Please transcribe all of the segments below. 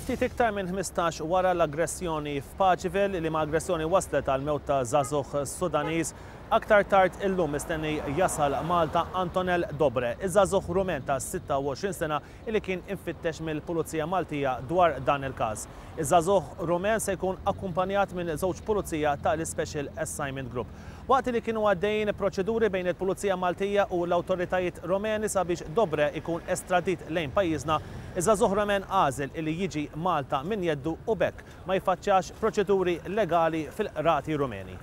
Ftit iktar minn 15 wara l-aggressjoni f'Paceville, liema aggressjoni wasslet għall-mewt ta' żagħżugħ Sudaniż, aktar tard illum mistenni jasal Malta Antonel Dobre, iż-żagħżugħ Rumen ta' 26 sena li kien imfittex mill-Pulizija Maltija dwar dan il-każ. Iż-żagħżugħ Rumen se jkun akkumpanjat minn żewġ pulizija tal-Ispecial Assignment Group. Waqt li kienu għaddejjin proċeduri bejn il-Pulizija Maltija u l-awtoritajiet Rumeni sabiex Dobre jkun estradit lejn pajjiżna, iż-żagħżugħ Rumen għażel illi jiġi Malta minn jeddu u b'hekk ma jiffaċċjax proċeduri legali fil-qrati Rumeni.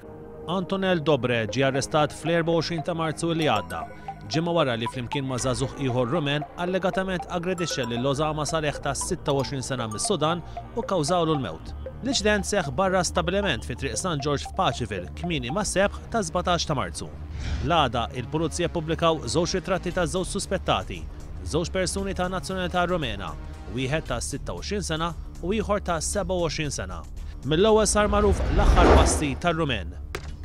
Antonel Dobre ġie arrestat fl-24 ta' Marzu li għadda, ġimgħa wara li flimkien ma' żagħżugħ ieħor Rumen allegatament aggredixxa lil Osama Saleh ta' 26 sena mis-Sudan u kkawżawlu l-mewt. L-inċident seħħ barra stabbiliment fi Triq San Ġorġ f'Paceville kmieni mas-sebħ tas-17 ta' Marzu. L-għada, il-Pulizija ppubblikaw żewġ ritratti ta' żewġ suspettati, żewġ persuni ta' nazzjonalità Rumena, wieħed ta' 26 sena u ieħor ta' 27 sena. Mill-ewwel sar magħruf l-aħħar passi tar-Rumen.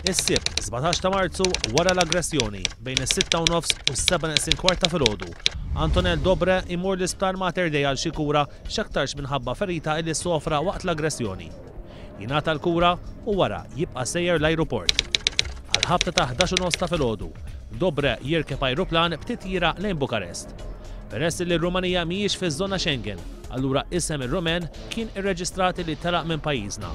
Is-Sibt, 17 ta' Marzu, wara l-aggressjoni, bejn is-sitta u nofs u s-sebgħa neqsin kwart ta' filgħodu, Antonel Dobre jmur l-Isptar Mater Dei għal xi kura x'aktarx minħabba ferita illi sofra waqt l-aggressjoni. Jingħata l-kura u wara jibqa' sejjer l-ajruport. Għall-ħabta ta' 11 u nofs ta' filgħodu, Dobre jirkeb ajruplan b'titjira lejn Bukarest. Peress li r-Rumanija mhijiex fiż-żona Schengen, allura isem ir-Rumen kien irreġistrat li telaq minn pajjiżna.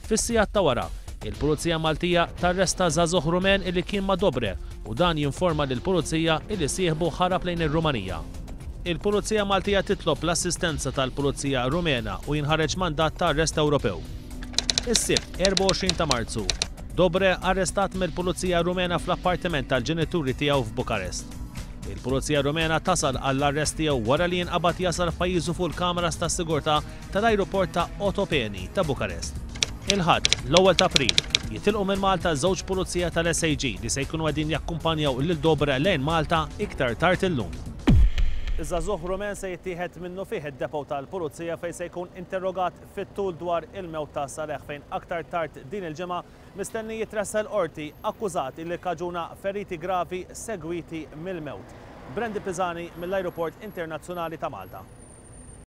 Fis-sigħat ta' wara, il-Pulizija Maltija tarresta żagħżugħ Rumen illi kien ma' Dobre u dan jinforma lill-Pulizija illi sieħbu ħarab lejn ir-Rumanija. Il-Pulizija Maltija titlob l-assistenza tal-Pulizija Rumena u jinħareġ mandat ta' arrest Ewropew. Is-Sibt, 24 ta' Marzu, Dobre arrestat mill-Pulizija Rumena fl-appartiment tal-ġenituri tiegħu f'Bukarest. Il-Pulizija Rumena tasal għall-arrest tiegħu wara li jinqabad jasal f'pajjiżu fuq il-kameras tas-sigurtà tal-ajruport ta' Otopeni ta' Bukarest. Il-Ħadd, l-ewwel ta' April, jitilqu minn Malta żewġ pulizija tal-SAG li se jkunu qegħdin jakkumpanjaw lil Dobre lejn Malta iktar tard illum. Iż-żagħżugħ Rumen se jittieħed minnufih id-depot tal-Pulizija fejn se jkun interrogat fit-tul dwar il-mewt ta' Saleh fejn aktar tard din il-ġimgħa mistenni jitressaq il-Qorti akkużat li kkaġuna feriti gravi segwiti mill-mewt. Brandy Pisani mill-Ajruport Internazzjonali ta' Malta.